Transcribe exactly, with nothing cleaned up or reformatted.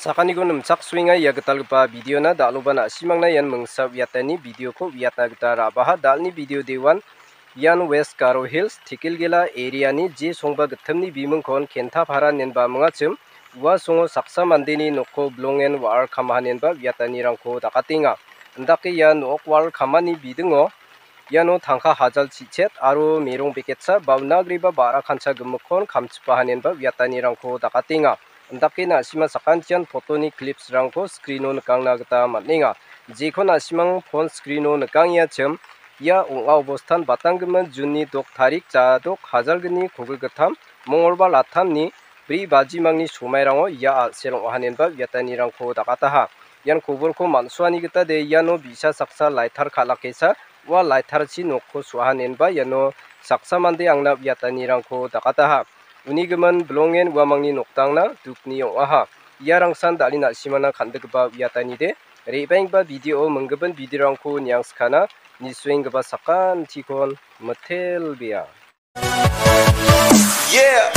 Sakaniko nimchaksoenga ia gitalgipa videona, dal·oba na·simangna ian mingsa uiatani videoko uiatna gita ra·baha. Dal·ni video dewan ian West Garo Hills, Tikhilgela areani J. Songba gittimni bimingkon Kentapara inenba mingachim. Ua songo saksa mandeni nokko bilongen wa·ar kamaha inenba uiatanirangko dakatenga. Indake ia nok wa·ar kamani bidingo iano tangka hajal chichet aro merong beketsa ba unagreba ba·ra kancha gimikkon kamchipaha inenba uiatanirangko dakatenga. Indake na·sima sakantian fotoni clipsrangko screeno nikangna gita man·enga. Jekon na·simang phone screeno nikangengachiim, ia ong·a obostan batanggimin June-ni dok tarik jadok hajalgni kogilgittam, mongolbar atamni bri bajimangni somairango ia a·sel ong·a inenba uiatanirangko dakataha. Ian koborko man·suani gita de iano bi·sa saksa lighter kal·akesa ua lighterchi nokko su·aha inenba iano saksa mande angna uiatanirangko dakataha. Uni gimin bilongen uamangni noktangna dukni ong·aha. Iarangsan dal·e na·simana kan·dikgipa uiatanide, re·baenggipa video-o minggimin videorangko niangskana, nisuenggipa sakantikon mitelbea. Yeah.